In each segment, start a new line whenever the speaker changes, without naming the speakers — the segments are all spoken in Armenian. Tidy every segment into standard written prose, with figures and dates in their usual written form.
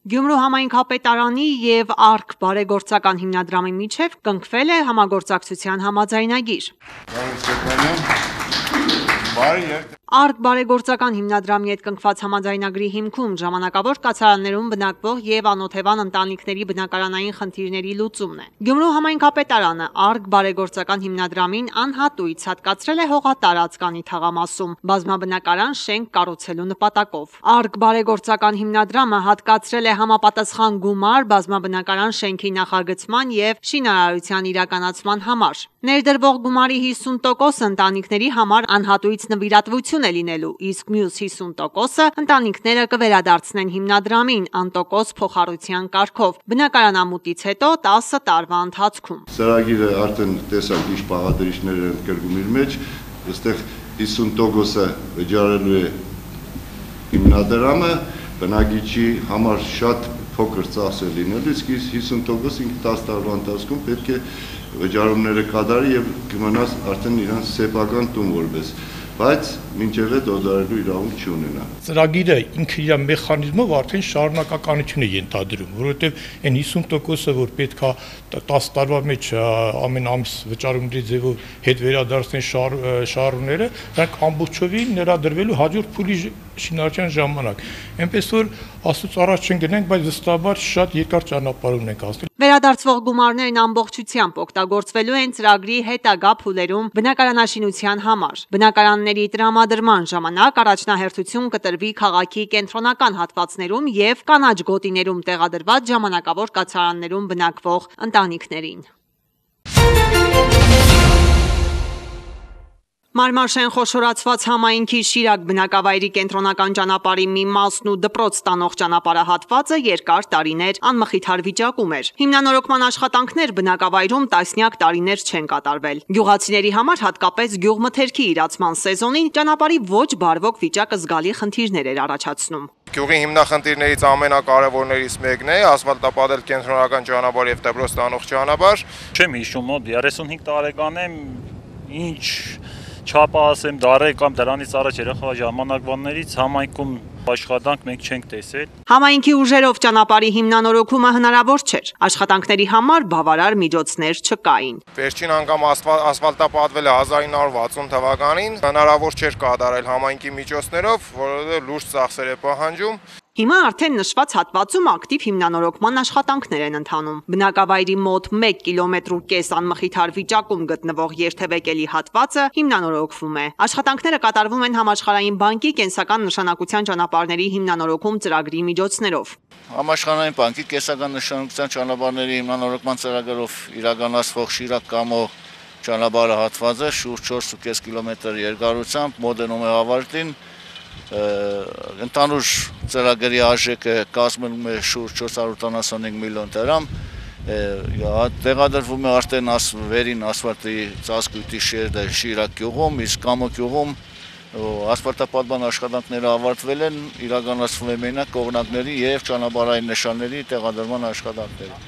Գյումրու համայնքապետարանի և Արկ բարեգործական հիմնադրամի միջև կնքվել է համագործակցության համաձայնագիր։ Արկ բարեգործական հիմնադրամի հետ կնքված համաձայնագրի հիմքում ժամանակավոր կացարաններում բնակվող և անօթևան ընտանիքների բնակարանային խնդիրների լուծումն է։ Գյումրու համայնքապետարանը Արկ բարեգործական հիմնադրամին անհատույց հատկացրել է հողատարածք անի թաղամասում բազմաբնակարան շենք կառուցելու նպատակով։ Արկ բարեգործական հիմնադրամը հատկացրել է համապատասխան գումար բազմաբնակարան շենքի նախագծման և շինարարության իրականացման համար։ Ներդրվող գումարի 50% ընտանիքների համար անհատույց նվիրատվություն է լինելու, իսկ մյուս 50%-ը ընտանիքները կվերադարձնեն հիմնադրամին անտոկոս փոխառության կարգով բնակարանամուտից հետո 10 տարվա ընթացքում։
Ծրագիրը արդեն տեսակ ինչ բաղադրիչներ են կրկում իր մեջ, այստեղ 50%-ը վճարելու է հիմնադրամը, բնակիչի համար շատ փոքր ծախս է լինելու, իսկ 50% ինքը 10 տարվա ընթացքում պետք է վճարումները կատարի եւ կմնաս արդեն իրանց սեփական տուն որպես, բայց մինչև այդ օդարելու իրավունք չունենա։
Ծրագիրը ինքը իր մեխանիզմով արդեն շարունակականություն է ենթադրում, որովհետեւ այն 50%-ը, որ պետքա 10 տարվա մեջ ամեն ամս վճարումների ձևով հետ վերադարձնեն շահառուները, դրանք ամբողջովին ներադրվելու հաջորդ փուլի շինարարության ժամանակ։ Այնպես որ աստծո առաջ չեն գնանք, բայց վստահաբար շատ երկար ճանապարհ ունենք անցնել։
Վերադարձվող գումարներն ամբողջությամբ օգտագործվելու են ծրագրի հետագա փուլերում բնակարանաշինության համար։ Բնակարանների տրամադրման ժամանակ առաջնահերթություն կտրվի քաղաքի կենտրոնական հատվածներում և կանաչ գոտիներում տեղադրված ժամանակավոր կացարաններում բնակվող ընտանիքներին։ Մարմարշեն խոշորացված համայնքի Շիրակ բնակավայրի կենտրոնական ճանապարհի մի մասն ու դպրոց տանող ճանապարհահատվածը երկար տարիներ անմխիթար վիճակում էր։ Հիմնանորոգման աշխատանքներ բնակավայրում տասնյակ տարիներ չեն կատարվել։ Գյուղացիների համար հատկապես գյուղմթերքի իրացման սեզոնին ճանապարհի ոչ բարվոք վիճակը զգալի խնդիրներ էր առաջացնում։
Գյուղի հիմնախնդիրներից ամենակարևորներից մեկն է ասֆալտապատել կենտրոնական ճանապարհ եւ դպրոց տանող ճանապարհ։
Չեմ հիշում, մոտ 35 տարեկան եմ, ինչ չափը ասեմ դարեր կամ դրանից առաջ երախա ժամանակվաններից համայնքում աշխատանք մենք չենք տեսել։
Համայնքի ուժերով ճանապարհի հիմնանորոգումը հնարավոր չէր։ Աշխատանքների համար բավարար միջոցներ չկային։
Վերջին անգամ ասֆալտապատվել է 1960 թվականին, հնարավոր չէր կատարել համայնքի միջոցներով, որովհետև լուրջ ծախսեր է պահանջում։
Հիմա արդեն նշված հատվածում ակտիվ հիմնանորոգման աշխատանքներ են ընթանում։ Բնակավայրի մոտ 1,5 կիլոմետր անմխիթար վիճակում գտնվող երթևեկելի հատվածը հիմնանորոգվում է։ Աշխատանքները կատարվում են Համաշխարհային բանկի կենսական նշանակության ճանապարհների հիմնանորոգում ծրագրի միջոցներով։
Համաշխարհային բանկի կենսական նշանակության ճանապարհների հիմնանորոգման ծրագրով իրականացվող Շիրակ-Կամո ճանապարհը հատվածը շուրջ 4,5 կիլոմետր երկարությամբ մոտենում է ավարտին։ Ընդհանուր ծրագրի արժեքը կազմում է շուրջ 475 միլիոն դրամ, տեղադրվում է արդեն վերին ասֆալտի ծածկույթի շերտը Շիրակ գյուղում, իսկ Կամո գյուղում ասֆալտապատման աշխատանքները ավարտվել են, իրականացվում է մենակ կողմնակների և ճանապարհային նշանների տեղադրման աշխատանքները։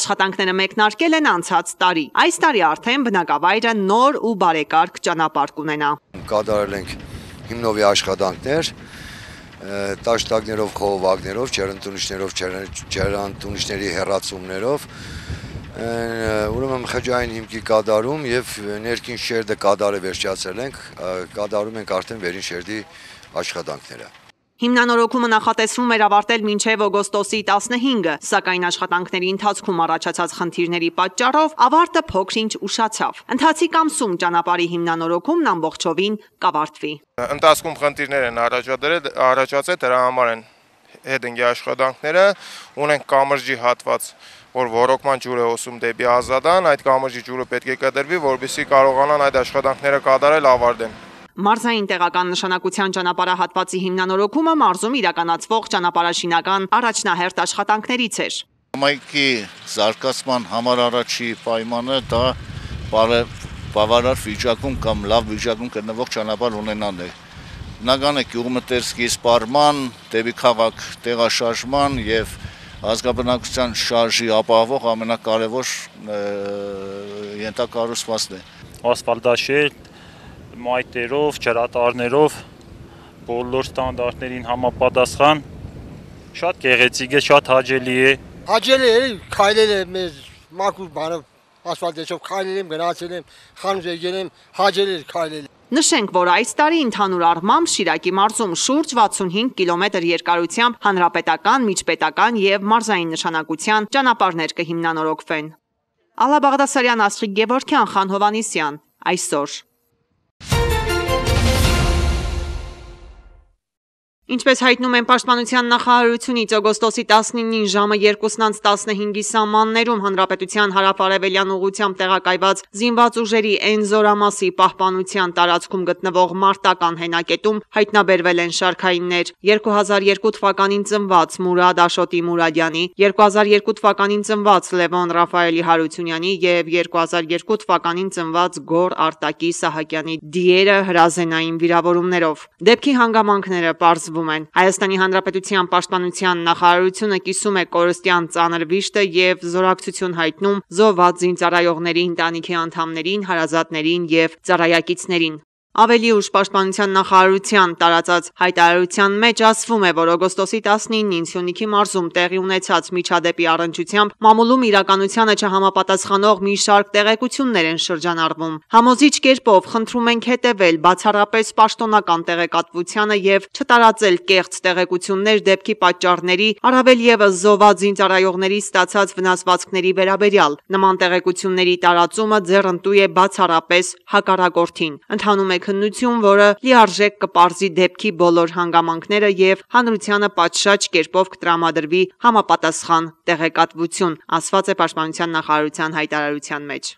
Աշխատանքները մեկնարկել են անցած տարի։ Այս տարի արդեն բնակավայրը նոր ու բարեկարգ ճանապարհ կունենա։
Կատարել ենք հիմնովի աշխատանքներ, տաշտակներով, խողովակներով, ջերմատունիչներով, ջերմատունիչների հեռացումներով, ուրեմն խճային հիմքի կատարում եւ ներքին շերտը կատարը վերջացրել ենք, կատարում ենք արդեն վերին շերտի աշխատանքները։
Հիմնանորոգումը նախատեսվում էր ավարտել մինչև օգոստոսի 15-ը, սակայն աշխատանքների ընթացքում առաջացած խնդիրների պատճառով ավարտը փոքր-ինչ ուշացավ։ Ընթացիկ ամսում ճանապարհի հիմնանորոգումն ամբողջովին կավարտվի։
Ընթացքում խնդիրներ են առաջացել, դրա համար են հետընկի աշխատանքները, ունենք կամրջի հատված, որ ոռոգման ջուր է հոսում դեպի Ազատան, այդ կամրջի ջուրը պետք է կտրվի, որպեսզի կարողանան այդ աշխատանքները կատարել ավարտեն։
Մարզային տեղական նշանակության ճանապարհահատվածի հիմնանորոգումը մարզում իրականացվող ճանապարհաշինական առաջնահերթ աշխատանքներից էր։
Համայնքի զարգացման համար առաջի պայմանը դա բավարար վիճակում կամ լավ վիճակում գտնվող ճանապարհ ունենալն է։ Բնական է գյուղմթերքի սպառման, դեպի քաղաք տեղաշարժման եւ ազգաբնակության շարժի ապահովող ամենակարևոր ենթակառուցվածքն է։
Ասֆալտաշերտ մայթերով, ջրատարներով բոլոր ստանդարտներին համապատասխան Շատ գեղեցիկ է, շատ հաճելի է։
Հաճելի է, քայլել է մեզ մաքուր բանով ասֆալտեցով քայլել եմ, գնացել եմ, խանութ եկել եմ, հաճելի է քայլել։
Նշենք, որ այս տարի ընդհանուր առմամբ Շիրակի մարզում շուրջ 65 կիլոմետր երկարությամբ հանրապետական, միջպետական եւ մարզային նշանակության ճանապարհներ կհիմնանորոգվեն։ Ալա Բաղդասարյան, Աստղիկ Գևորգյան, Խան Հովանիսյան, այսօր։ Ինչպես հայտնում են Պաշտպանության նախարարությունից, օգոստոսի 19-ին ժամը 2:15-ի սահմաններում Հանրապետության հարավ-արևելյան ուղղությամբ տեղակայված զինված ուժերի N զորամասի պահպանության տարածքում գտնվող մարտական հենակետում հայտնաբերվել են շարքայիններ 2002 թվականին ծնված Մուրադ Աշոտի Մուրադյանի, 2002 թվականին ծնված Լևոն Ռաֆայելի Հարությունյանի և 2002 թվականին ծնված Գոր Արտակի Սահակյանի դիերը հրազենային վիրավորումներով։ Դեպքի հանգամանքները պարզվում են։ Հայաստանի Հանրապետության Պաշտպանության նախարարությունը կիսում է կորստյան ծանր վիշտը եւ զորակցություն հայտնում զոհված զինծառայողների ընտանիքի անդամներին, հարազատներին եւ ծառայակիցներին։ Ավելի ուշ Պաշտպանության նախարարության տարածած հայտարարության մեջ ասվում է, որ օգոստոսի 19-ին Սյունիքի մարզում տեղի ունեցած միջադեպի առնչությամբ մամուլում իրականությանը չհամապատասխանող մի շարք տեղեկություններ են շրջանառվում։ Համոզիչ կերպով խնդրում ենք հետևել բացառապես պաշտոնական տեղեկատվությանը եւ չտարածել կեղծ տեղեկություններ դեպքի պատճառների, առավել ևս զոհված զինծառայողների ստացած վնասվածքների վերաբերյալ։ Նման տեղեկությունների տարածումը ձեռնտու է բացառապես հակառակորդին։ Ընթանում է քննություն, որը լիարժեք կպարզի դեպքի բոլոր հանգամանքները եւ հանրությանը պատշաճ կերպով կտրամադրվի համապատասխան տեղեկատվություն, ասված է Պաշտպանության նախարարության հայտարարության մեջ։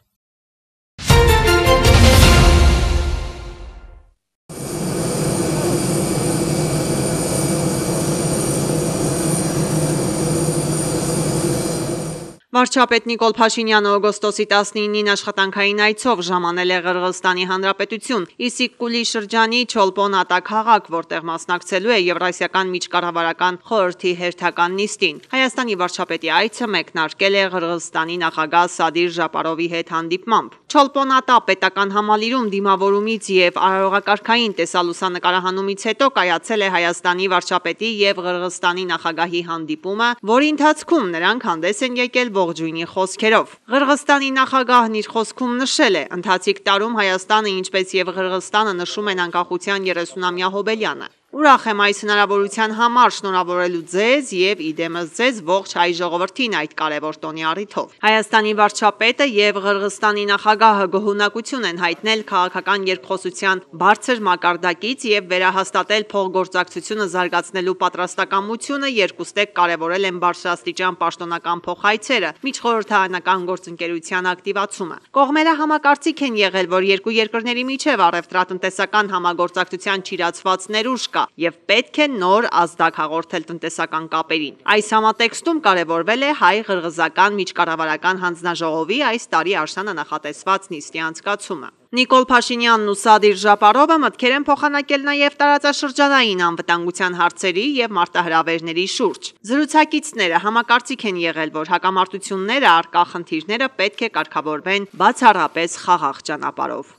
Վարչապետ Նիկոլ Փաշինյանը օգոստոսի 19-ին աշխատանքային այցով ժամանել է Ղրղըզստանի Հանրապետություն, Իսիկ-Կուլի շրջանի Չոլպոն-Ատա քաղաք, որտեղ մասնակցելու է Եվրասիական միջկառավարական խորհրդի հերթական նիստին։ Հայաստանի վարչապետի այցը մեկնարկել է Ղրղըզստանի նախագահ Սադիր Ժապարովի հետ հանդիպմամբ։ Չոլպոն-Ատա պետական համալիրում դիմավորումից եւ արարողակարգային տեսալուսանկարահանումից հետո կայացել է Հայաստանի վարչապետի եւ Ղրղըզստանի նախագահի հանդիպումը, որի ընթացքում նրանք հանդես են եկել ողջույնի խոսքերով։ Ղրղըզստանի նախագահն իր խոսքում նշել է. «Ընթացիկ տարում Հայաստանը, ինչպես եւ Ղրղըզստանը նշում են անկախության 30-ամյա հոբելյանը։ Ուրախ եմ այս հնարավորության համար շնորհավորելու ձեզ եւ իդեմս ձեզ ողջ հայ ժողովրդին այդ կարևոր տոնի առիթով»։ Հայաստանի վարչապետը եւ Ղրղըզստանի նախագահը գոհունակություն են հայտնել քաղաքական երկխոսության բարձր մակարդակից եւ վերահաստատել փոխգործակցությունը զարգացնելու պատրաստակամությունը, երկուստեք կարևորել են բարձրաստիճան պաշտոնական փոխայցերը, միջխորհրդարանական գործընկերության ակտիվացումը։ Կողմերը համակարծիք են եղել, որ երկու երկրների միջև առևտրատնտեսական համագործակցության չիրացված ներուժ կա եւ պետք է նոր ազդակ հաղորդել տնտեսական կապերին։ Այս համատեքստում կարևորվել է հայ-ղրղըզական միջկառավարական հանձնաժողովի այս տարի աշնանը նախատեսված նիստի անցկացումը։ Նիկոլ Փաշինյանն ու Սադիր Ժապարովը մտքեր են փոխանակել նաև տարածաշրջանային անվտանգության հարցերի եւ մարտահրավերների շուրջ։ Զրուցակիցները համակարծիք են եղել, որ հակամարտությունները առկա խնդիրները պետք է կարգավորվեն բացառապես խաղաղ ճանապարհով։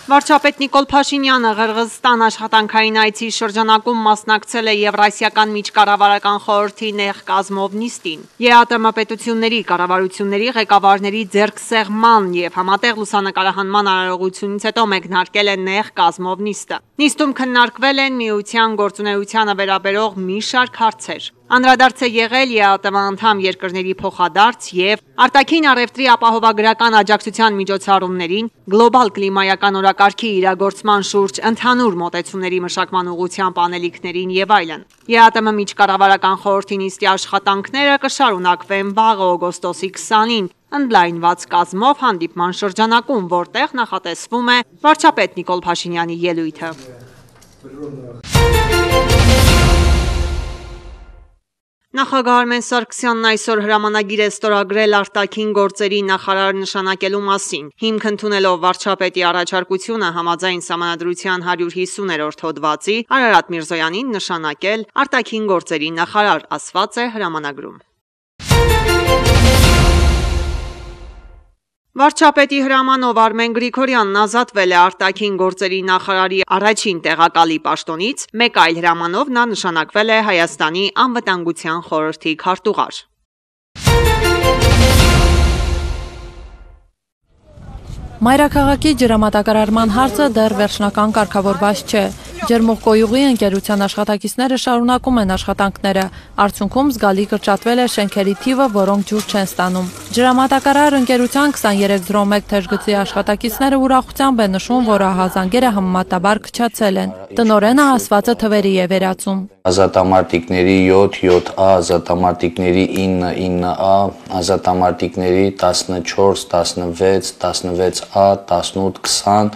Վարչապետ Նիկոլ Փաշինյանը Ղրղըզստան աշխատանքային այցի շրջանակում մասնակցել է Եվրասիական միջկառավարական խորհրդի նեղ կազմով նիստին։ ԵԱՏՄ պետությունների կառավարությունների ղեկավարների ձեռքսեղման եւ համատեղ լուսանկարահանման արարողությունից հետո մեկնարկել է նեղ կազմով նիստը։ Նիստում քննարկվել են միության գործունեությանը վերաբերող մի շարք հարցեր։ Անդրադարձ է եղել ԵԱՏՄ անդամ երկրների փոխադարձ եւ արտաքին առևտրի ապահովագրական աջակցության միջոցառումներին, գլոբալ կլիմայական օրակարգի իրագործման շուրջ ընդհանուր մոտեցումների մշակման ուղղությամբ անելիքներին եւ այլն։ ԵԱՏՄ միջկառավարական խորհրդի նիստի աշխատանքները կշարունակվեն վաղը օգոստոսի 20-ին ընդլայնված կազմով հանդիպման շրջանակում, որտեղ նախատեսվում է վարչապետ Նիկոլ Փաշինյանի ելույթը։ Նախագահ Արմեն Սարգսյանն այսօր հրամանագիր է ստորագրել արտաքին գործերի նախարար նշանակելու մասին։ Հիմք ընդունելով վարչապետի առաջարկությունը համաձայն Սահմանադրության 150-րդ հոդվածի Արարատ Միրզոյանին նշանակել արտաքին գործերի նախարար, ասված է հրամանագրում։ Վարչապետի հրամանով Արմեն Գրիգորյանն ազատվել է արտաքին գործերի նախարարի առաջին տեղակալի պաշտոնից, մեկ այլ հրամանով նա նշանակվել է Հայաստանի անվտանգության խորհրդի քարտուղար։
Մայրաքաղաքի ջրամատակարարման հարցը դեռ վերջնական կարգավորված չէ։ Ջերմուղկոյուղի ընկերության աշխատակիցները շարունակում են աշխատանքները։ Արդյունքում զգալի կրճատվել է շենքերի թիվը, որոնք ջուր չեն ստանում։ Ջրամատակարար ընկերության 2301 թեժգծի աշխատակիցները ուրախությամբ են նշում, որ ահազանգերը համեմատաբար քչացել են։ Տնօրենը ասվածը թվերի է վերածում։
Ազատամարտիկների 7, 7A, ազատամարտիկների 9, 9A, ազատամարտիկների 14, 16, 16A, 18, 20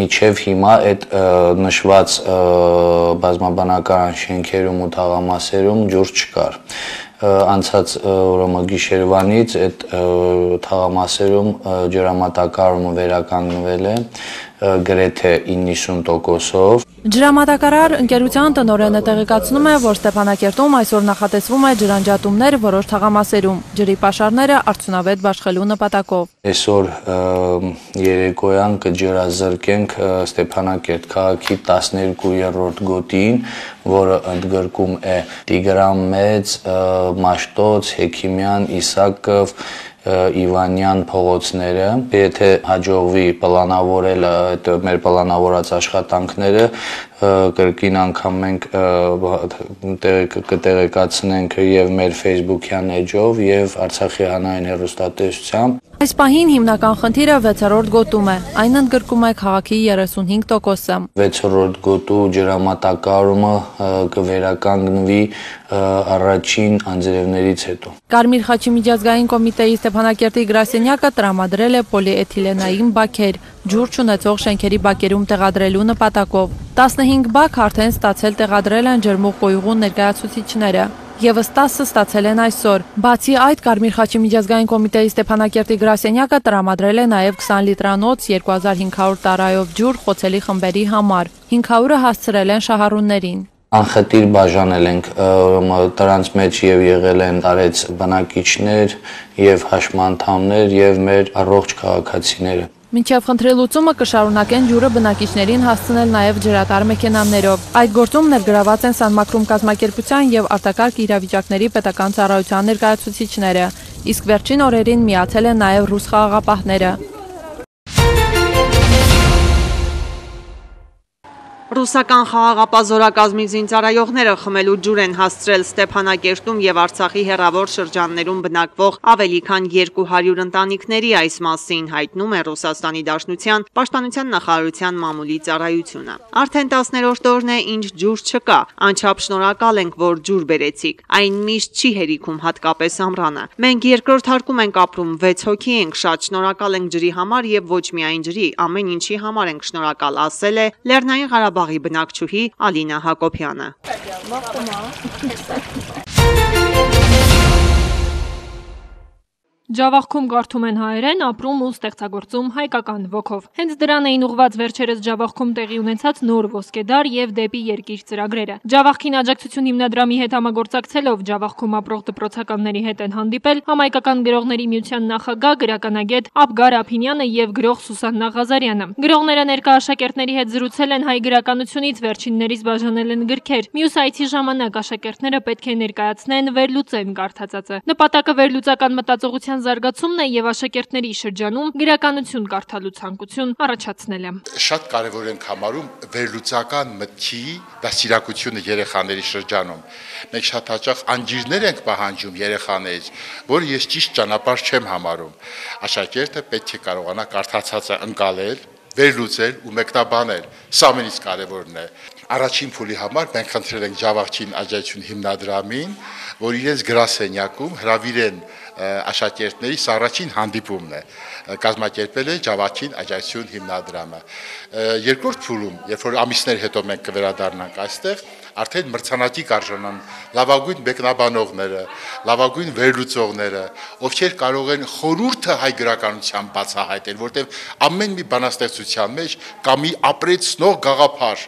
միջև հիմա այդ նշված բազմաբանական շենքերում ու թաղամասերում ջուր չկար։ Անցած գիշերվանից այդ թաղամասերում ջրամատակարարումը վերականգնվել է գրեթե 90%-ով։
Ջրամատակարար ընկերության տնօրենը տեղեկացնում է, որ Ստեփանակերտում այսօր նախատեսվում է ջրանջատումներ որոշ թաղամասերում, ջրի պաշարները արդյունավետ բաշխելու նպատակով։
Այսօր երեկոյան կջրազրկենք Ստեփանակերտ քաղաքի 12-րդ գոտին, որը ընդգրկում է Տիգրան Մեծ, Մաշտոց, Հեքիմյան, Իսակով, Իվանյան փողոցները, եթե հաջողվի պլանավորել այդ մեր պլանավորած աշխատանքները, կրկին անգամ մենք կտեղեկացնենք եւ մեր Facebook-յան էջով եւ Արցախի հանրային հեռուստատեսությամբ։
Այս պահին հիմնական խնդիրը 6-րդ գոտում է, այն ընդգրկում է քաղաքի 35%-ը։
6-րդ գոտու ջրամատակարարումը կվերականգնվի առաջին անձրևներից հետո։
Կարմիր խաչի միջազգային կոմիտեի Ստեփանակերտի գրասենյակը տրամադրել է պոլիէթիլենային բաքեր, ջուր չունեցող շենքերի բակերում տեղադրելու նպատակով։ 15 բակ արդեն ստացել տեղադրել են ջերմուղկոյուղու ներկայացուցիչները։ Եվս 10-ը ստացել են այսօր։ Բացի այդ, Կարմիր խաչի միջազգային կոմիտեի Ստեփանակերտի գրասենյակը տրամադրել է նաև 20 լիտրանոց 2500 տարայով ջուր խոցելի խմբերի համար։ 500-ը հասցրել են շահառուներին։
Անխտիր բաժանել ենք, դրանց մեջ եւ եղել են տարեց բնակիչներ եւ հաշմանդամներ եւ մեր առողջ քաղաքացիները։
Մինչև խնդրի լուծումը կշարունակեն ջուրը բնակիչներին հասցնել նաև ջրատար մեքենաներով։ Այդ գործում ներգրաված են Սանմակրում կազմակերպության եւ արտակարգ իրավիճակների պետական ծառայության ներկայացուցիչները, իսկ վերջին օրերին միացել են նաև ռուս խաղաղապահները։
Ռուսական խաղաղապահ զորակազմի զինծառայողները խմելու ջուր են հասցրել Ստեփանակերտում եւ Արցախի հեռավոր շրջաններում բնակվող ավելի քան 200 ընտանիքների, այս մասին հայտնում է Ռուսաստանի Դաշնության Պաշտպանության նախարարության մամուլի ծառայությունը։ Արդեն 10-րդ օրն է, ինչ ջուր չկա, անչափ շնորհակալ ենք, որ ջուր բերեցիք։ Այն միշտ չի հերիքում, հատկապես ամռանը։ Մենք երկրորդ հարկում ենք ապրում, 6 հոգի ենք, շատ շնորհակալ ենք ջրի համար եւ ոչ միայն ջրի, ամեն ինչի համար ենք շնորհակալ, ասել է Լեռնային Ղարաբաղի բնակչուհի Ալինա Հակոբյանը։
Ջավախքում կարդում են հայերեն, ապրում ու ստեղծագործում հայկական ոգով։ Հենց դրան էին ուղղված վերջերս Ջավախքում տեղի ունեցած նոր ոսկեդար եւ դեպի երկիր ծրագրերը։ Ջավախքին աջակցություն հիմնադրամի հետ համագործակցելով Ջավախքում ապրող դպրոցականների հետ են հանդիպել Համայնքական գրողների միության նախագահ գրականագետ Աբգար Ափինյանը եւ գրող Սուսաննա Ղազարյանը։ Գրողները ներկա աշակերտների հետ զրուցել են հայ գրականությունից, վերջիններից բաժանել են գրքեր։ Մյուս այցի ժամանակ աշակերտները պետք է ներկայացնեն, վերլուծեն կարդացածը։ Նպատակը վերլուծական մտածողության զարգացումն է եւ աշակերտների շրջանում գրականություն կարդալու ցանկություն առաջացնելը։
Շատ կարեւոր ենք համարում վերլուծական մտքի դաստիարակությունը երեխաների շրջանում։ Մենք շատ հաճախ անջիրներ ենք պահանջում երեխաներից, որ ես ճիշտ ճանապարհ չեմ համարում։ Աշակերտը պետք է կարողանա կարդացածը ընկալել, վերլուծել ու մեկնաբանել։ Սա ամենից կարևորն է։ Առաջին փուլի համար մենք խնդրել ենք Ջավախքին աջակցություն հիմնադրամին, որ իրենց գրասենյակում հրավիրեն աշակերտների առաջին հանդիպումն է կազմակերպել է Ջավախքին աջակցություն հիմնադրամը։ Երկրորդ փուլում, երբ որ ամիսներ հետո մենք կվերադառնանք այստեղ, արդեն մրցանակի կարժանան լավագույն մեկնաբանողները, լավագույն վերլուծողները, ովքեր կարող են խորհուրդը հայ գրականության բացահայտել, որտեղ ամեն մի բանաստեղծության մեջ կա մի ապրեցնող գաղափար,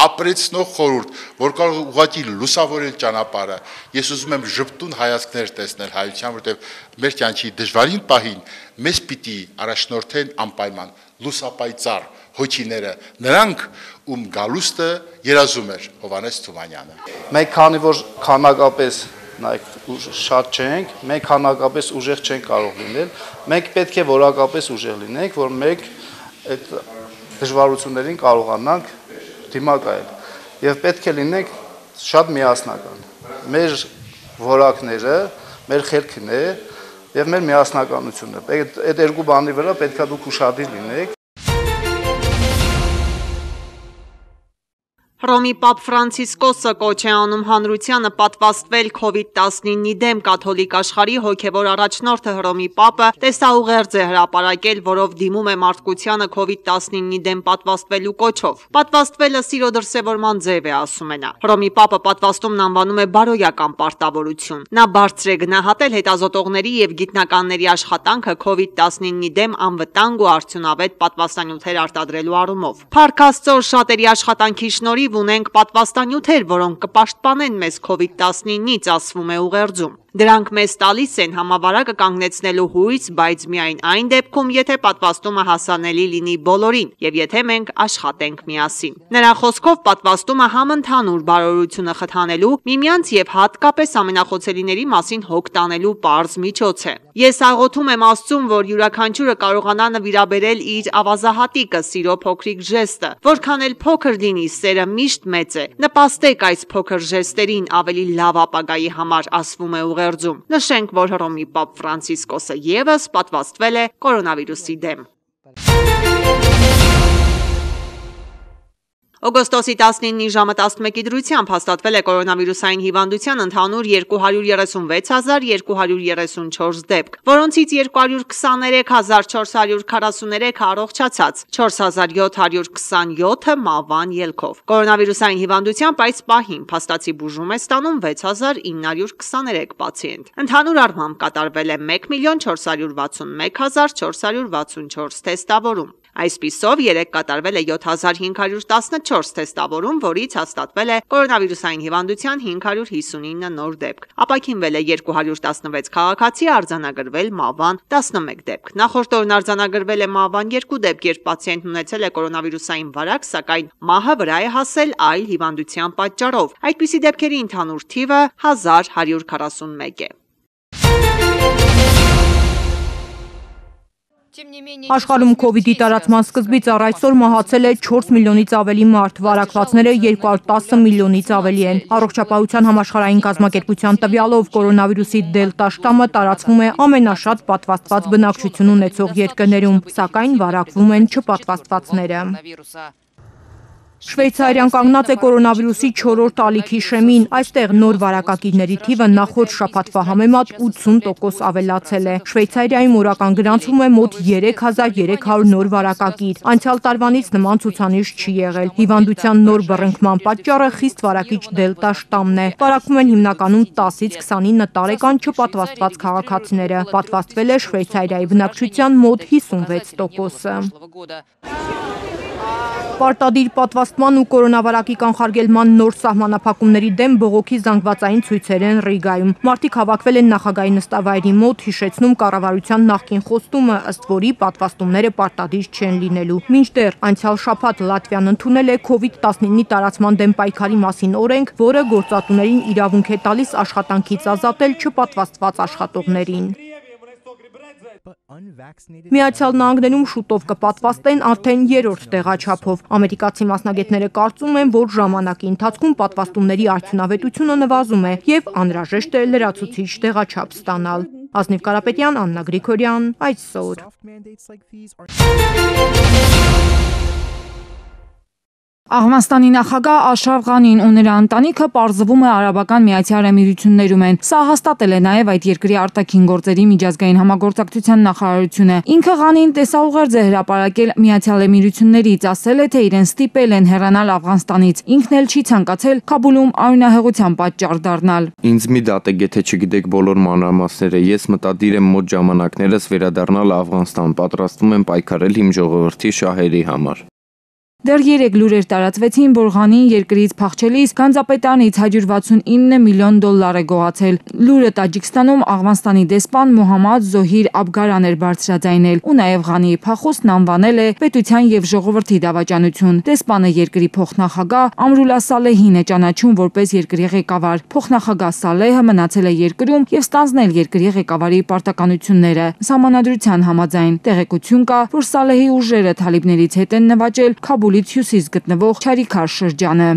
ապրեցնող խորհուրդ, որ կարող ուղղակի լուսավորել ճանապարհը։ Ես ուզում եմ ժպտուն հայացքներ տեսնել հայության, որտեղ մեր կյանքի դժվարին պահին մեզ պիտի առաջնորդեն անպայման լուսապայծառ հոգիները, նրանք, ում գալուստը երազում էր Հովհաննես Թումանյանը։
Մենք քանի որ քանակապես շատ չենք, մենք քանակապես ուժեղ չենք կարող լինել, մենք պետք է որակապես ուժեղ լինենք, որ մենք այդ դժվարություններին կարողանանք դիմակայել եւ պետք է լինենք շատ միասնական։ Մեր որակները, մեր խելքն է եւ մեր միասնականությունը։ Այդ երկու բանի վրա պետք է դուք ուշադիր լինեք։
Հռոմի Պապ Ֆրանցիսկոսը կոչ է անում հանրությանը պատվաստվել COVID-19-ի դեմ կաթոլիկ աշխարհի հոգևոր առաջնորդը Հռոմի Պապը տեսաուղերձ է հրապարակել, որով դիմում է մարդկությանը COVID-19-ի դեմ պատվաստվելու կոչով։ Պատվաստվելը սիրո դրսևորման ձև է, ասում է նա։ Հռոմի Պապը պատվաստումն անվանում է բարոյական պարտավորություն։ Նա բարձր է գնահատել հետազոտողների եւ գիտնականների աշխատանքը COVID-19-ի դեմ անվտանգ ու արդյունավետ պատվաստանյութեր արտադրելու առումով։ Փառք Աստծո, շատերի աշխատանքի շնորհիվ ունենք պատվաստանյութեր, որոնք կպաշտպանեն մեզ COVID-19-ից, ասվում է ուղերձում։ Դրանք մեզ տալիս են համավարակը կանգնեցնելու հույս, բայց միայն այն դեպքում, եթե պատվաստումը հասանելի լինի բոլորին եւ եթե մենք աշխատենք միասին։ Նրա խոսքով պատվաստումը համընդհանուր բարօրությունը խթանելու, միմյանց եւ հատկապես ամենախոցելիների մասին հոգ տանելու պարզ միջոց է։ Ես աղոթում եմ Աստծուն, որ յուրաքանչյուրը կարողանա նվիրաբերել իր ավազահատիկը, սիրո փոքրիկ ժեստը, որքան էլ փոքր լինի, սերը միշտ մեծ է։ Նպաստեք այս փոքր ժեստերին ավելի լավ ապագայի համար, ասվում է ուղերձում։ Նշենք, որ Հռոմի Պապ Ֆրանցիսկոսը ևս պատվաստվել է կորոնավիրուսի դեմ։ Օգոստոսի 19-ի ժամը 11-ի դրությամբ հաստատվել է կորոնավիրուսային հիվանդության ընդհանուր 236,234 դեպք, որոնցից 223,443-ը առողջացած, 4,727-ը մահվան ելքով։ Կորոնավիրուսային հիվանդությամբ այս պահին փաստացի բուժում է ստանում 6,923 պացիենտ։ Ընդհանուր առմամբ կատարվել է 1,461,464 թեստավորում։ Այսպիսով 3 կատարվել է 7,514 թեստավորում, որից հաստատվել է կորոնավիրուսային հիվանդության 559 նոր դեպք։ Ապաքինվել է 216 քաղաքացի, արձանագրվել մահվան 11 դեպք։ Նախորդ օրն արձանագրվել է մահվան 2 դեպք, երբ պացիենտն ունեցել է կորոնավիրուսային վարակ, սակայն մահը վրա է հասել այլ հիվանդության պատճառով։ Այդպիսի դեպքերի ընդհանուր թիվը 1141 է։
Աշխարհում COVID-ի տարածման սկզբից առ այսօր մահացել է 4 միլիոնից ավելի մարդ, վարակվածները 210 միլիոնից ավելի են։ Առողջապահության համաշխարհային կազմակերպության տվյալով կորոնավիրուսի դելտա շտամը տարածվում է ամենաշատ պատվաստված բնակչություն ունեցող երկրներում, սակայն վարակվում են չպատվաստվածները։ Շվեյցարիան կանգնած է կորոնավիրուսի 4-րդ ալիքի շեմին, այստեղ նոր վարակակիրների թիվը նախորդ շաբաթվա համեմատ 80% ավելացել է։ Շվեյցարիայում օրական գրանցվում է մոտ 3300 նոր վարակակիր։ Անցյալ տարվանից նման ցուցանիշ չի եղել։ Հիվանդության նոր բռնկման պատճառը խիստ վարակիչ դելտա շտամն է։ Վարակվում են հիմնականում 10-ից 29 տարեկան չպատվաստված քաղաքացիները։ Պատվաստվել է Շվեյցարիայի բնակչության մոտ 56%-ը։ Պարտադիր պատվաստման ու կորոնավարակի կանխարգելման նոր սահմանափակումների դեմ բողոքի զանգվածային ցույցեր են Ռիգայում։ Մարդիկ հավաքվել են նախագահի նստավայրի մոտ, հիշեցնում կառավարության նախկին խոստումը, ըստ որի պատվաստումները պարտադիր չեն լինելու։ Մինչդեռ անցյալ շաբաթ Լատվիան ընդունել է COVID-19-ի տարածման դեմ պայքարի մասին օրենք, որը գործատուներին իրավունք է տալիս աշխատանքից ազատել չպատվաստված աշխատողներին։ Միացյալ Նահանգներում շուտով կպատվաստեն արդեն 3-րդ տեղաչափով։ Ամերիկացի մասնագետները կարծում են, որ ժամանակի ընթացքում պատվաստումների արդյունավետությունը նվազում է եւ անհրաժեշտ է լրացուցիչ տեղաչափ ստանալ։ Ազնիվ Կարապետյան, Աննա Գրիգորյան, այսօր։
Աղվանստանի նախագահ Աշրաֆ Ղանին ու նրա ընտանիքը պարզվում է Արաբական Միացյալ Էմիրություններում են։ Սա հաստատել է նաև այդ երկրի արտաքին գործերի միջազգային համագործակցության նախարարությունը։ Ինքը Ղանին տեսաուղերձ է հրապարակել Միացյալ Էմիրություններից, ասել է, թե իրեն ստիպել են հեռանալ Աֆղանստանից։ Ինքն էլ չի ցանկացել Քաբուլում արյունահեղության պատճառ դառնալ։
Ինձ մի դատեք, եթե չգիտեք բոլոր մանրամասները, ես մտադիր եմ մոտ ժամանակներս վերադառնալ Աֆղանստան, պատրաստվում եմ պայքարել իմ ժողովրդի շահերի համար։
Դեռ 3 լուրեր տարածվեցին, որ Ղանին երկրից փախչելիս Գանձապետարանից $169 միլիոն է գողացել։ Լուրը Տաջիկստանում Աղվանստանի դեսպան Մոհամմադ Զոհիր Աբգարան էր բարձրաձայնել, ու նաև Ղանիի փախուստն անվանել է պետության եւ ժողովրդի դավաճանություն։ Դեսպանը երկրի փոխնախագահ Ամրուլա Սալեհին է ճանաչում որպես երկրի ղեկավար։ Փոխնախագահ Սալեհը մնացել է երկրում եւ ստանձնել երկրի ղեկավարի պարտականությունները։ Սահմանադրության համաձայն տեղեկություն կա, որ Սալեհի ուժերը թալիբներից հետ են նվաճել Քաբուլից հյուսիս գտնվող Չարիքար շրջանը։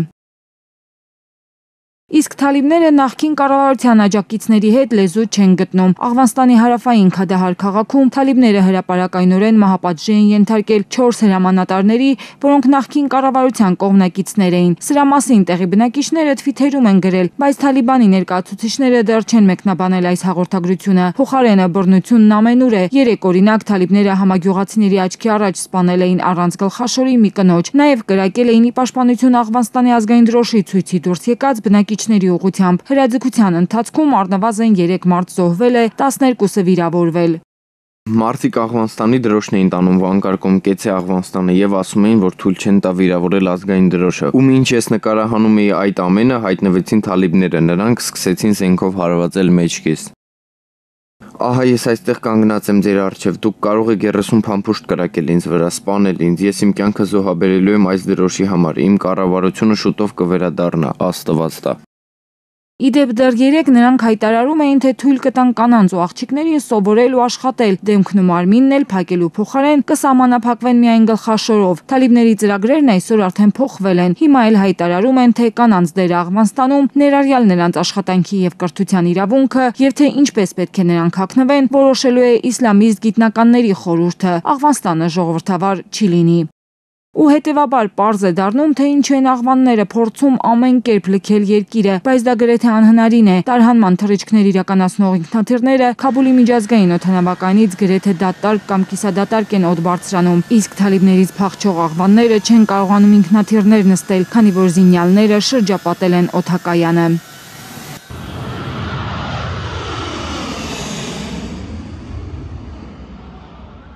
Իսկ թալիբները նախկին կառավարության աջակիցների հետ լեզու չեն գտնում։ Աղվանստանի հարավային Քադահար քաղաքում թալիբները հրապարակայնորեն մահապատժի են ենթարկել 4 հրամանատարների, որոնք նախկին կառավարության կողմնակիցներ էին։ Սրա մասին տեղի բնակիչները թվիթերում են գրել, բայց Թալիբանի ներկայացուցիչները դեռ չեն մեկնաբանել այս հաղորդագրությունը։ Փոխարենը բռնությունն ամենուր է։ 3 օրինակ թալիբները համագյուղացիների աչքի առաջ սպանել էին առանց գլխաշորի մի կնոջ։ Նաև կրակել էին ի պաշտպանություն Աղվանստանի ազգային դրոշի ցույցի դուրս եկած բնակիչների ուղղությամբ։ Հրաձգության ընթացքում առնվազն 3 մարդ զոհվել է, 12-ը վիրավորվել։
Մարդիկ Աղվանստանի դրոշն էին տանում վանկարկում կեցե Աղվանստանը եւ ասում էին, որ թույլ չեն տա վիրավորել ազգային դրոշը։ Ում ինչ ես նկարահանում էի այդ ամենը հայտնվեցին թալիբները, նրանք սկսեցին զենքով հարվածել մեջքից։ Ահա ես այստեղ կանգնած եմ ձեր առջև, դուք կարող եք 30 փամփուշտ կրակել ինձ վրա, սպանել ինձ, ես իմ կյանքը զոհաբերելու եմ այս դրոշի համար, իմ կառավարությունը շուտով կվերադառնա, Աստված տա։
Իդեպ դեռ 3 նրանք հայտարարում էին, թե թույլ կտան կանանց ու աղջիկներին սովորել ու աշխատել, դեմքն ու մարմինն էլ փակելու փոխարեն կսահմանափակվեն միայն գլխաշորով։ Թալիբների ծրագրերն այսօր արդեն փոխվել են։ Հիմա էլ հայտարարում են, թե կանանց դերը Աղվանստանում, ներառյալ նրանց աշխատանքի եւ կրթության իրավունքը, եւ թե ինչպես պետք է նրանք հագնվեն, որոշելու է իսլամիստ գիտնականների խորհուրդը։ Աղվանստանը ժողովրդավար չի լինի։ Ու հետևաբար պարզ է դառնում, թե ինչու են աղվանները փորձում ամեն կերպ լքել երկիրը, բայց դա գրեթե անհնարին է։ Տարհանման թռիչքներ իրականացնող ինքնաթիռները Քաբուլի միջազգային օդանավակայանից գրեթե դատարկ կամ կիսադատարկ են օդ բարձրանում, իսկ թալիբներից փախչող աղվանները չեն կարողանում ինքնաթիռներ նստել, քանի որ զինյալները շրջապատել են օդակայանը։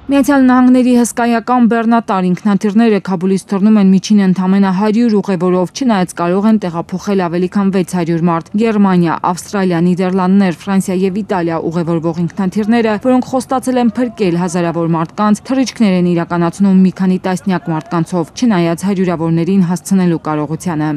Միացյալ Նահանգների հսկայական բեռնատար ինքնաթիռները Քաբուլից թռնում են միջին ընդամենը 100 ուղևորով, չնայած կարող են տեղափոխել ավելի քան 600 մարդ։ Գերմանիա, Ավստրալիա, Նիդերլանդներ, Ֆրանսիա եւ Իտալիա ուղևորվող ինքնաթիռները, որոնք խոստացել են փրկել հազարավոր մարդկանց, թռիչքներ են իրականացնում մի քանի տասնյակ մարդկանցով, չնայած հարյուրավորներին հասցնելու կարողությանը։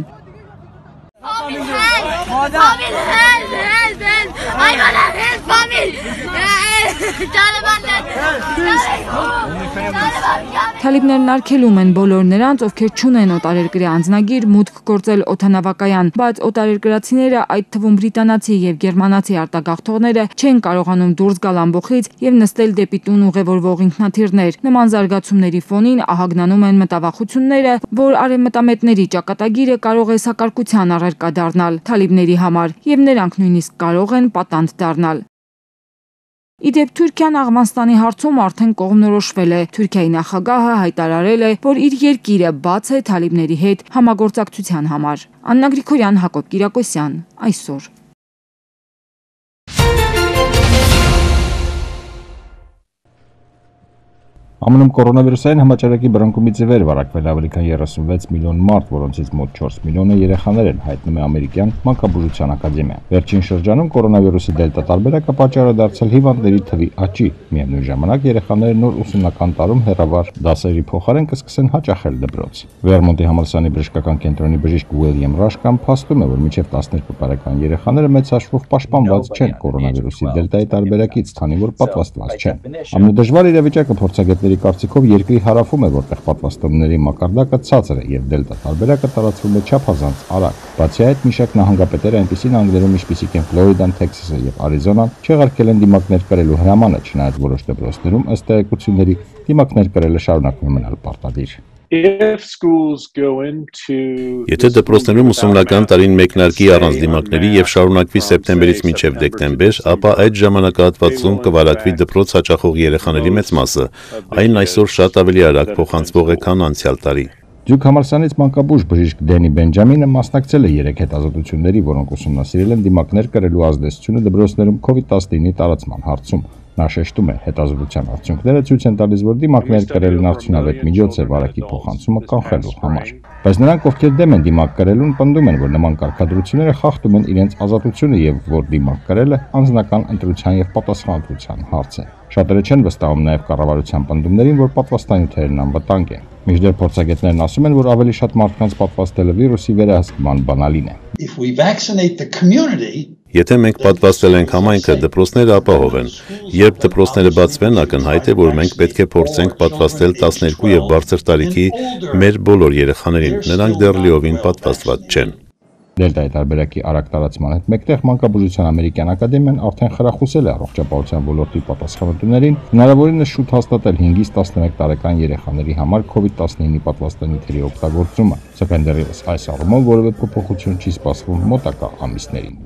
Թալիբներն արգելում են բոլոր նրանց, ովքեր չունեն օտարերկրյա անձնագիր, մուտք գործել օդանավակայան, բայց օտարերկրացիները, այդ թվում բրիտանացի եւ գերմանացի արտագաղթողները, չեն կարողանում դուրս գալ ամբոխից եւ նստել դեպի տուն ուղևորվող ինքնաթիռներ։ Նման զարգացումների ֆոնին ահագնանում են մտավախությունները, որ արևմտամետների ճակատագիրը կարող է սակարկության առարկա դառնալ թալիբների համար, եւ նրանք նույնիսկ կարող են պատանդ դառնալ։ Իդեպ Թուրքիան Աղվանստանի հարցում արդեն կողմնորոշվել է։ Թուրքիայի նախագահը հայտարարել է, որ իր երկիրը բաց է թալիբների հետ համագործակցության համար։ Աննա Գրիգորյան, Հակոբ Կիրակոսյան, այսօր։
ԱՄՆ-ում կորոնավիրուսային համաճարակի բռնկումից ի վեր վարակվել ավելի քան 36 միլիոն մարդ, որոնցից մոտ 4 միլիոնը երեխաներ են, հայտնում է ամերիկյան մանկաբուժության ակադեմիան։ Վերջին շրջանում կորոնավիրուսի դելտա տարբերակը պատճառ է դարձել հիվանդների թվի աճի։ Միևնույն ժամանակ երեխաները նոր ուսումնական տարում հեռավար դասերի փոխարեն կսկսեն հաճախել դպրոց։ Վերմոնտի համալսարանի բժշկական կենտրոնի բժիշկ Ուիլյամ Ռաշկան փաստում է, որ մինչև 12 տարեկան երեխաները մեծ հաշվով պաշտպանված չեն կորոնավիրուսի դելտայի տարբերակից, քանի որ պատվաստված չեն։ Ամենադժվար իրավիճակը փորձագետների կարծիքով երկրի հարավում է, որտեղ պատվաստումների մակարդակը ցածր է եւ դելտա տարբերակը տարածվում է չափազանց արագ։ Բացի այդ, մի շարք նահանգապետեր այնպիսի նահանգներում, ինչպիսիք են Ֆլորիդան, Թեքսասը եւ Արիզոնան, չեղարկել են դիմակներ կրելու հրամանը, չնայած որոշ դպրոցներում ըստ տեղեկությունների դիմակներ կրելը շարունակվում է մնալ պարտադիր։
Եթե դպրոցներում ուսումնական տարին մեկնարկի առանց դիմակների եւ շարունակվի սեպտեմբերից մինչեւ դեկտեմբեր, ապա այդ ժամանակահատվածում կվարակվի դպրոց հաճախող երեխաների մեծ մասը, այն այսօր շատ ավելի արագ փոխանցվող է, քան անցյալ տարի։
Դյուք համալսարանից մանկաբույժ բժիշկ Դենի Բենջամինը մասնակցել է 3 հետազոտությունների, որոնք ուսումնասիրել են դիմակներ կրելու ազդեցությունը դպրոցներում COVID-19-ի տարածման հարցում։ Նա շեշտում է, հետազոտության արդյունքները ցույց են տալիս, որ դիմակներ կրելն արդյունավետ միջոց է վարակի փոխանցումը կանխելու համար։ Բայց նրանք, ովքեր դեմ են դիմակ կրելուն, պնդում են, որ նման կարգադրությունները խախտում են իրենց ազատությունը եւ որ դիմակ կրելը անձնական ընտրության եւ պատասխանատվության հարց է։ Շատերը չեն վստահում նաեւ կառավարության պնդումներին, որ պատվաստանյութերն անվտանգ են։ Մինչդեռ փորձագետներն ասում են, որ ավելի շատ մարդկանց պատվաստելը վիրուսի վերահսկման բանալին է։
Եթե մենք պատվաստել ենք համայնքը, դպրոցները ապահով են։ Երբ դպրոցները բացվեն, ակնհայտ է, որ մենք պետք է փորձենք պատվաստել 12 եւ բարձր տարիքի մեր բոլոր երեխաներին։ Նրանք դեռ լիովին պատվաստված չեն։
Դելտայի տարբերակի արագ տարածման հետ մեկտեղ Մանկաբուժության ամերիկյան ակադեմիան արդեն խրախուսել է առողջապահության ոլորտի պատասխանատուներին հնարավորինս շուտ հաստատել 5-ից 11 տարեկան երեխաների համար COVID-19-ի պատվաստանյութերի օգտագործումը, սակայն դեռևս այս առումով որևէ փոփոխություն չի սպասվում մոտակա ամիսներին։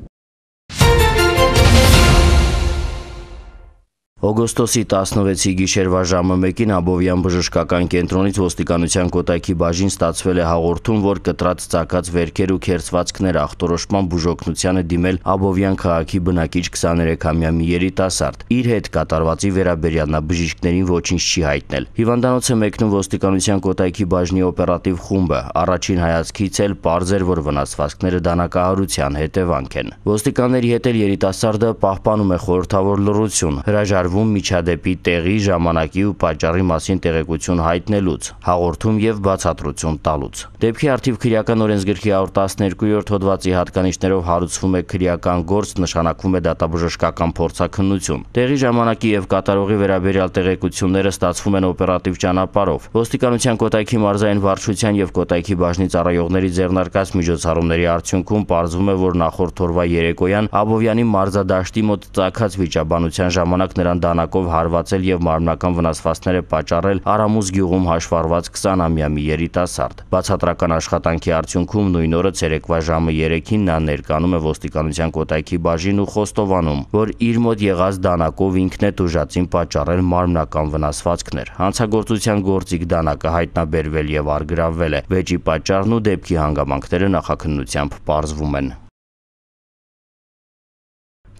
Օգոստոսի 16-ի գիշերվա ժամը 1-ին Աբովյան բժշկական կենտրոնից ոստիկանության Կոտայքի բաժին ստացվել է հաղորդում, որ կտրած ծակած վերքեր ու քերծվածքներ ախտորոշման բուժօգնության է դիմել Աբովյան քաղաքի բնակիչ 23-ամյա մի երիտասարդ։ Իր հետ կատարվածի վերաբերյալ նա բժիշկներին ոչինչ չի հայտնել։ Հիվանդանոց է մեկնում ոստիկանության Կոտայքի բաժնի օպերատիվ խումբը։ Առաջին հայացքից էլ պարզ էր, որ վնասվածքները դանակահարության հետևանք են։ Ոստիկանների հետ էլ երիտասարդը պահպանում է խորհրդավոր լռություն, հրաժարվում միջադեպի տեղի, ժամանակի ու պատճառի մասին տեղեկություն հայտնելուց, հաղորդում եւ բացատրություն տալուց։ Դեպքի առթիվ քրեական օրենսգրքի 112-րդ հոդվածի հատկանիշներով հարուցվում է քրեական գործ, նշանակվում է դատաբժշկական փորձաքննություն։ Տեղի, ժամանակի եւ կատարողի վերաբերյալ տեղեկությունները ստացվում են օպերատիվ ճանապարհով։ Ոստիկանության Կոտայքի մարզային վարչության եւ Կոտայքի բաժնի ծառայողների ձեռնարկած միջոցառումների արդյունքում պարզվում է, որ նախորդ օրվա երեկոյան Աբովյանի մարզադաշտի մոտ ծագած վիճաբանության ժամանակ նրան դանակով հարվածել եւ մարմնական վնասվածքներ է պատճառել Արամուզ գյուղում հաշվառված 20-ամյա մի երիտասարդ։ Բացատրական աշխատանքի արդյունքում նույն օրը ցերեկվա ժամը 3-ին նա ներկանում է ոստիկանության Կոտայքի բաժին ու խոստովանում, որ իր մոտ եղած դանակով ինքն է տուժածին պատճառել մարմնական վնասվածքներ։ Հանցագործության գործիք դանակը հայտնաբերվել եւ առգրավվել է։ Վեճի պատճառն ու դեպքի հանգամանքները նախաքննությամբ պարզվում են։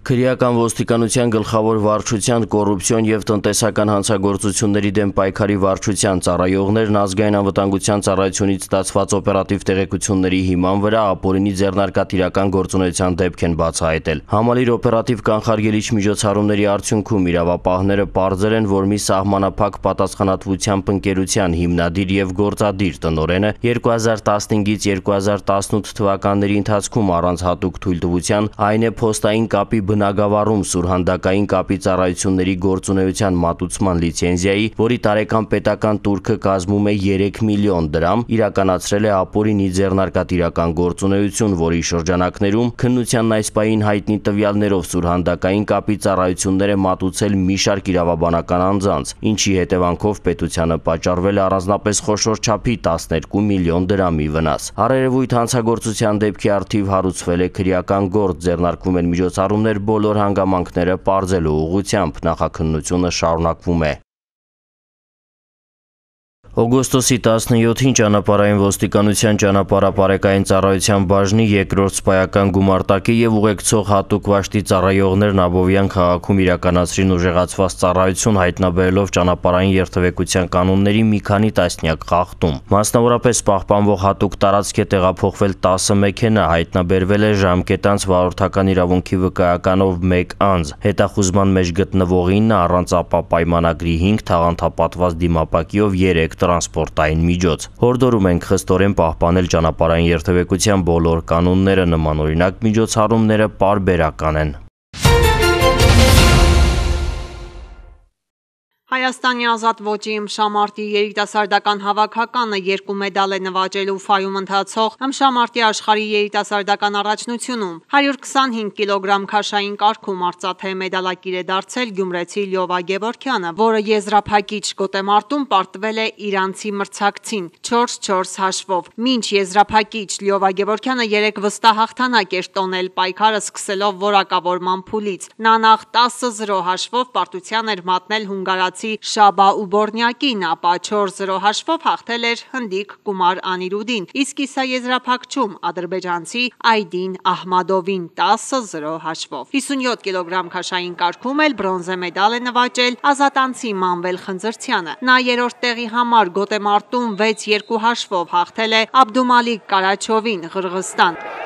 Քրեական ոստիկանության գլխավոր վարչության կոռուպցիոն եւ տնտեսական հանցագործությունների դեմ պայքարի վարչության ծառայողներն ազգային անվտանգության ծառայությունից ստացված օպերատիվ տեղեկությունների հիման վրա ապօրինի ձեռնարկատիրական գործունեության դեպք են բացահայտել։ Համալիր օպերատիվ կանխարգելիչ միջոցառումների արդյունքում իրավապահները պարզել են, որ մի սահմանափակ պատասխանատվությամբ ընկերության հիմնադիր եւ գործադիր տնօրենը 2015-ից 2018 թվականների ընթացքում առանց հատուկ թույլտվության, այն է փոստային կապի բնագավառում սուրհանդակային կապի ծառայությունների գործունեության մատուցման լիցենզիայի, որի տարեկան պետական տուրքը կազմում է 3 միլիոն դրամ, իրականացրել է ապօրինի ձեռնարկատիրական գործունեություն, որի շրջանակներում քննությանն այս պահին հայտնի տվյալներով սուրհանդակային կապի ծառայություններ է մատուցել մի շարք իրավաբանական անձանց, ինչի հետևանքով պետությանը պատճառվել է առանձնապես խոշոր չափի 12 միլիոն դրամի վնաս։ Առերևույթ հանցագործության դեպքի առթիվ հարուցվել է քրեական գործ, ձեռնարկվում են միջոցառումներ բոլոր հանգամանքները պարզելու ուղղությամբ, նախաքննությունը շարունակվում է։ Օգոստոսի 17-ին ճանապարհային ոստիկանության ճանապարհապարեկային ծառայության բաժնի երկրորդ սպայական գումարտակի եւ ուղեկցող հատուկ վաշտի ծառայողներն Աբովյան քաղաքում իրականացրին ուժեղացված ծառայություն հայտնաբերելով ճանապարհային երթևեկության կանոնների մի քանի տասնյակ խախտում։ Մասնավորապես պահպանվող հատուկ տարածք է տեղափոխվել 10 մեքենա, հայտնաբերվել է ժամկետանց վարորդական իրավունքի վկայականով 1 անձ, հետախուզման մեջ գտնվողին առանց ապա պայմանագրի 5 թաղանթապատված դիմապակիով 3 տրանսպորտային միջոց։ Հորդորում ենք խստորեն պահպանել ճանապարհային երթևեկության բոլոր կանոնները, նմանօրինակ միջոցառումները պարբերական են։
Հայաստանի ազատ ոճի ըմբշամարտի երիտասարդական հավաքականը 2 մեդալ է նվաճելու Ֆայում ընթացող ըմբշամարտի աշխարհի երիտասարդական առաջնությունում։ 125 կիլոգրամ քաշային կարգում արծաթե մեդալակիր է դարձել գյումրեցի Լյովա Գևորգյանը, որը եզրափակիչ գոտեմարտում պարտվել է իրանցի մրցակցին 4-4 հաշվով։ Մինչ եզրափակիչ Լյովա Գևորգյանը 3 վստահ հաղթանակ էր տոնել պայքարը սկսելով որակավորման փուլից։ Նա նախ 10-0 հաշվով պարտության էր մատնել հունգարացի թուրքացի Շաբա Ուբորնյակին, ապա 4-0 հաշվով հաղթել էր հնդիկ Կումար Անիրուդին, իսկ կիսաեզրափակչում ադրբեջանցի Այդին Ահմադովին 10-0 հաշվով։ 57 կիլոգրամ քաշային կարգում էլ բրոնզե մեդալ է նվաճել ազատանցի Մանվել Խնձրցյանը։ Նա երրորդ տեղի համար գոտեմարտում 6-2 հաշվով հաղթել է Աբդումալիկ Կարաչովին, Ղրղստան։